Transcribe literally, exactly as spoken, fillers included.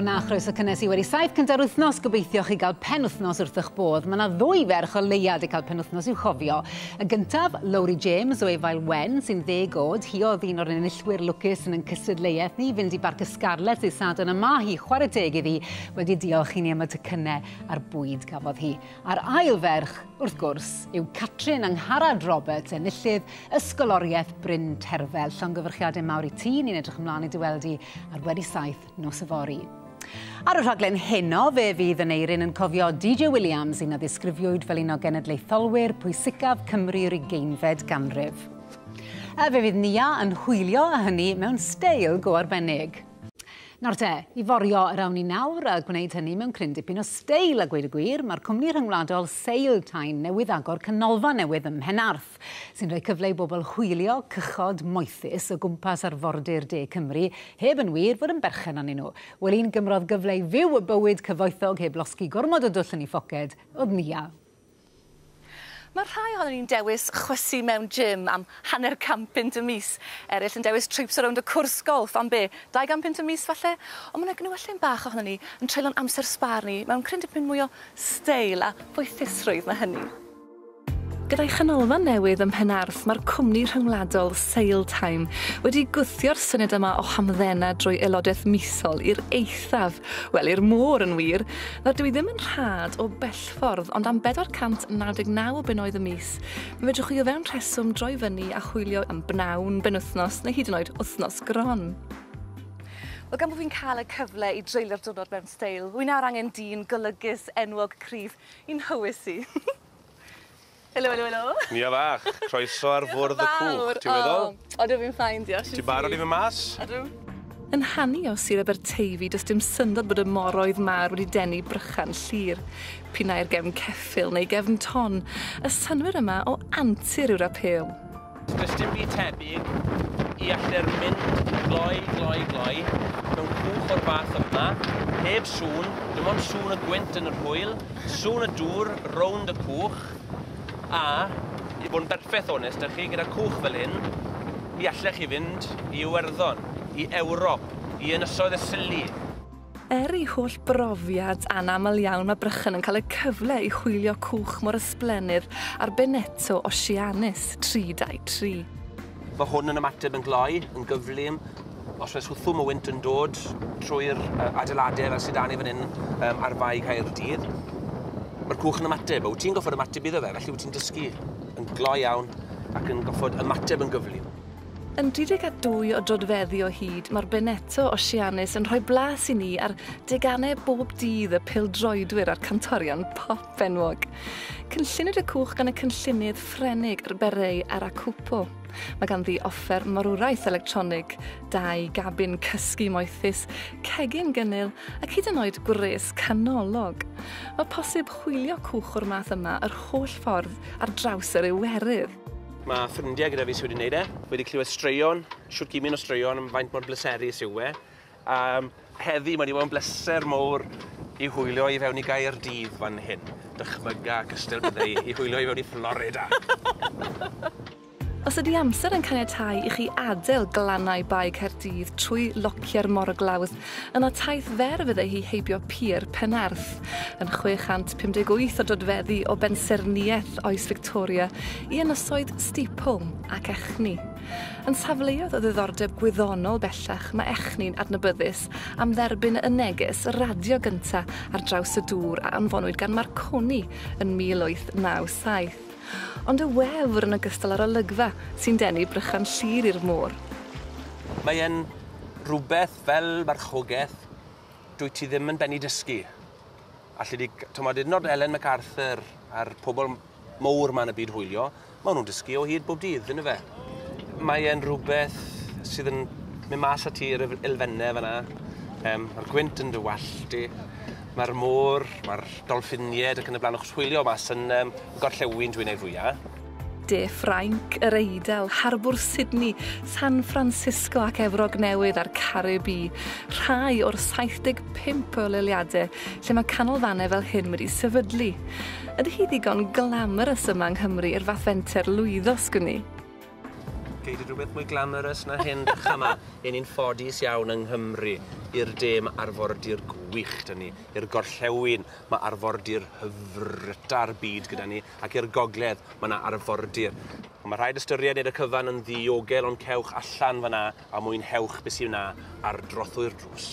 Sibona, chroeso cynnes i wedi saith cynta'r wythnos. Gobeithio chi gael penwythnos wrth eich bodd. Mae yna ddwy ferch o leia wedi cael penwythnos i'w chofio. Y gyntaf, Lowri James o Efail Wen, sy'n ddeg oed. Hi oedd un o'r enillwyr lwcus yn ein cystadleuaeth ni, fynd i Barc y Scarlets i Sadwrn, a ma hi, chwarae teg iddi, wedi diolch i ni am y tocynnau a'r bwyd gafodd hi. A'r ail ferch, wrth gwrs, yw Catrin Angharad Roberts, enillydd Ysgoloriaeth Bryn Terfel. Llongyfarchiadau mawr i ti, ni'n edrych ymlaen i dy weld di ar wedi saith nos yfory. Ar y rhaglen heno, fe fydd Aneirin yn cofio D J Williams, un a ddisgrifiwyd fel un o genedlaetholwyr pwysicaf Cymru'r ugeinfed ganrif. A fe fydd Nia yn hwylio a hynny mewn steil go arbennig. Nawr te, i forio yr awn ni nawr a gwneud hynny mewn cryn dipyn o steil a gweud y gwir, mae'r cwmni rhyngwladol SailTime newydd agor canolfan newydd ym Mhenarth, sy'n rhoi cyfle i bobl hwylio cychod moethus o gwmpas arfordir De Cymru, heb yn wir fod yn berchen arnyn nhw. Wel, un gymrodd gyfle i fyw y bywyd cyfoethog heb losgi gormod o dwll yn ei phoced, oedd Nia. Mae rhai ohonon ni'n dewis chwysu mewn gym am hanner can punt y mis. Eraill yn dewis trips around y cwrs golff am be? Dau gan punt y mis falle? Ond mae yna gnewyllyn bach ohonon ni yn treulio'n amser sbâr ni mewn cryn dipyn mwy o steil a foethusrwydd na hynny. Gyda'i chanolfan newydd ym Mhenarth, mae'r cwmni rhyngwladol SailTime wedi gwthio'r syniad yma o hamddena drwy aelodaeth misol i'r eithaf, wel i'r môr yn wir. Nawr dwi ddim yn rhad o bellffordd, ond am bedwar cant naw deg naw o bunnoedd y mis, mi fedrwch chi o fewn rheswm droi fyny a chwilio am bnawn, benwythnos neu hyd yn oed wythnos gron. Wel, gan bod fi'n cael y cyfle i dreulio'r diwrnod mewn steil, wy nawr angen dyn golygus, enwog, cryf i'n hywys i. Helo, helo, helo. Nia fach, croeso ar fwrdd y cwch, ti'n meddwl? O, ydw fi'n ffain, diolch. Ti'n barod i fynd mas? Ydw. Yn hanu o Sir Aberteifi, does dim syndod bod y moroedd mawr wedi denu brychan Llyr. P'un ai'r gefn ceffyl neu gefn ton, y synnwyr yma o antur yw'r apêl. Does dim byd tebyg i allu'r mynd gloi, gloi, gloi, mewn cwch o'r fath yma, heb sŵn, dim ond sŵn y gwynt yn yr hwyl, sŵn y dŵr rownd y cwch, a, i fod yn berffaith onest â chi, gyda cwch fel hyn, mi allech chi fynd i Iwerddon, i Ewrop, i Ynysoedd y Sili. Er ei holl brofiad anaml iawn, mae Brychan yn cael y cyfle i hwylio cwch mor ysblennydd ar Beneteau Oceanis tri dau tri. Mae hwn yn ymateb yn gloi, yn gyflym. Os oes hwthwm o wynt yn dod trwy'r adeiladau fel sydd 'da ni fan hyn um, ar Fae Caerdydd, mae'r cwch yn ymateb, a wyt ti'n goffod ymateb iddo fe, felly wyt ti'n dysgu yn gloi iawn ac yn goffod ymateb yn gyflym. Yn dri deg a dwy o drodfeddi o hyd, mae'r Beneteau Oceanis yn rhoi blas i ni ar deganau bob dydd y pêl-droedwyr a'r cantorion pop enwog. Cynlluniwyd y cwch gan y cynllunydd Ffrenig Berey Arakupo. Mae ganddi offer marwraeth electronig, dau gabin cysgu moethus, cegin gynnil ac hyd yn oed gwres canolog. Mae posib hwylio cwch o'r math yma yr holl ffordd ar draws yr Iwerydd. Mae ffrindiau gyda fi sydd wedi gwneud e, wedi clywed straeon, shwt gymaint o straeon am faint mor bleserus yw e. Um, heddi mae wedi bod yn bleser mawr i hwylio i fewn i Gaerdydd fan hyn. Dychmyga cystal bydde i, i hwylio i fewn i Florida. Os ydy amser yn caniatáu i chi adael glannau Bae Caerdydd trwy locio'r morglawdd, yna taith fer fydde hi heibio Pier Penarth, yn chwe chant pum deg wyth o dodfeddi o bensaernïaeth oes Victoria i ynysoedd Steepholm ac Echni. Yn safleoedd o ddiddordeb gwyddonol bellach, mae Echni'n adnabyddus am dderbyn y neges radio gynta ar draws y dŵr a anfonwyd gan Marconi yn mil wyth naw saith. Ond y wefr yn ogystal â'r olygfa sy'n denu Brychan Llyr i'r môr. Mae e'n rhywbeth fel marchogaeth dwyt ti ddim yn bennu dysgu. Alli di, t'mod, hyd yn oed Ellen MacArthur a'r pobl mowr 'ma yn y byd hwylio, maen nhw'n dysgu o hyd bob dydd, yndyfe fe? Mae e'n rhywbeth sydd yn mynd mas â ti i'r elfennau fan'na. Um, mae'r gwynt yn dy wallt di, mae'r môr, mae'r dolffiniaid ac yn y blaen, achos hwylio mas yn um, gorllewin dwi'n ei fwyaf. De Ffrainc, yr Eidal, Harbwr Sydney, San Francisco ac Efrog Newydd a'r Caribî. Rhai o'r saith deg pump o leoliadau lle mae canolfannau fel hyn wedi sefydlu. Ydy hi ddigon glamorous yma yng Nghymru i'r fath fenter lwyddo, sgwn i? Gei di rhywbeth mwy glamorous na hyn dych yma. Ein ni'n ffodus iawn yng Nghymru. I'r de mae arfordir gwych 'da ni. I'r gorllewin mae arfordir hyfryta'r byd gyda ni. Ac i'r gogledd mae yna arfordir. Ond mae rhaid ystyried wneud y cyfan yn ddiogel, ond cewch allan fyna a mwynhewch beth sydd yna ar drothwy'r drws.